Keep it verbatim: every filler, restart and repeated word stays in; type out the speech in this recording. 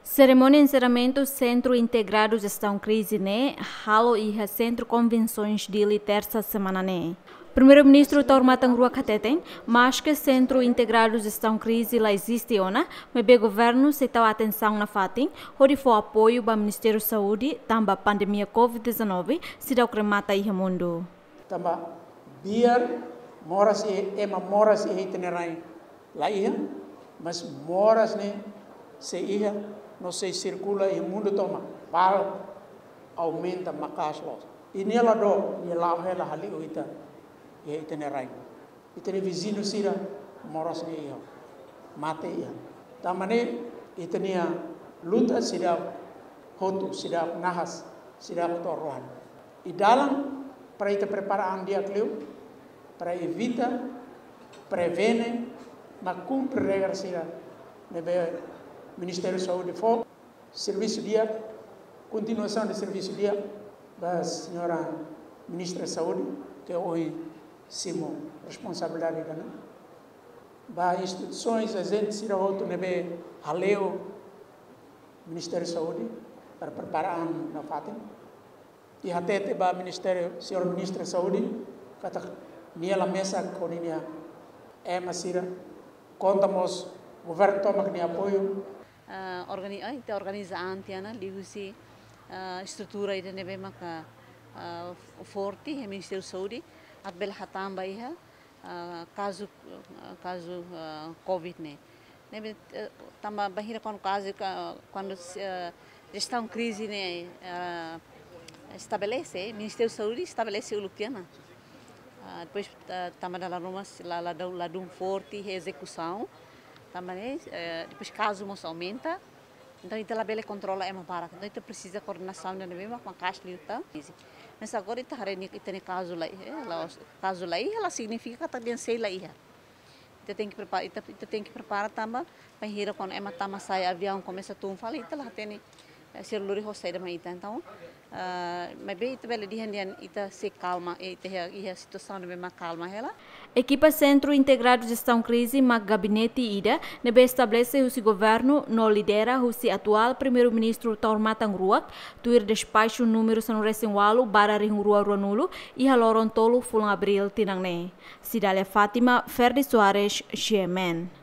Serimónia enserramentu Sentru Integradu Jestaun Krize ne'e halo iha Sentru Konvensoens Dili, Tersa semana ne'e. Primeiru-Ministru Taur Matan Ruak hateten, maske Sentru Integradu Jestaun Krize la eziste ona, maibé governu sei tau atensaun nafatin hodi fó apoiu ba Ministériu Saúde tanba pandemia covid dezanove seidauk remata iha mundu. Tanba biar moras iha, ema moras iha ita-nia rain la iha, mas moras ne'e sei iha no sei sirkula iha mundu tomak, bal aumenta maka'as loos. I nia la dook, nia la'o hela hali'u ita iha ita-nia rain. Ita-nia viziñu sira moras ne'e iha, mate iha. Tanba ne'e ita-nia luta seidauk hotu, seidauk nahas, seidauk to'o rohan. I dalan para ita prepara an di'ak liu, para evita, prevene, mak kumpre regra sira ne'ebé Ministériu Saúde fó. Servisu di'ak, kontinuasaun de servisu di'ak ba Señora Ministra Saúde, ke ohin simu responsabilidade ida-ne'e. Ba instituisoens, ajente sira hotu ne'ebé hale'u Ministériu Saúde para prepara an nafatin. I hatete ba Ministériu, Señora Ministra Saúde, katak nia la mesak ho ninia ema sira, konta mós governu tomak nia apoiu. Ah, organi-, ah, ita organiza an tiha ona liuhusi, ah, estrutura ida ne'ebé maka, ah, forte iha Ministériu Saúde, atu bele hatán ba iha, ah, kazu, ah, kazu, ah, covid ne'e. Ne'ebé, eh, tanba bainhira kuandu kazu ka, kuandu, eh, jestaun krize ne'e, eh, estabelese, Ministériu Saúde estabelese uluk tiha ona. Ah, depois, ah, tanba dala ruma la, la dun, la dun forte ezekusaun. Tanba ne'e, eh, depois kazu mós aumenta. Entaun ita la bele kontrola ema barak. Entaun ita presiza koordenasaun ida ne'ebé mak maka'as liután. Mas agora ita haree nia, ita-nia kazu la, eh, la, kazu la iha la signifika katak dehan sei la iha. Ita tenke prepara, ita, ita tenke prepara tanba bainhira kuandu ema tama sai, aviaun komesa tun fali, ita la hatene, eh, sira lori ho saida mai ita. Entaun, ah, maibé ita bele dehan dehan ita sei kalma, eh, ita iha, iha situasaun ne'ebé mak kalma hela. Ekipa Sentru Integradu Jestaun Krize mak gabinete ida ne'ebé estabelese husi governu no lidera husi atuál Primeiru-Ministru Taur Matan Ruak, tuir despaxu númeru sanulu-resin-ualu barra rihun rua ruanulu, iha loron tolu fulan Abríl tinan ne'e. Cidália Fátima, Ferdi Soares, G M N.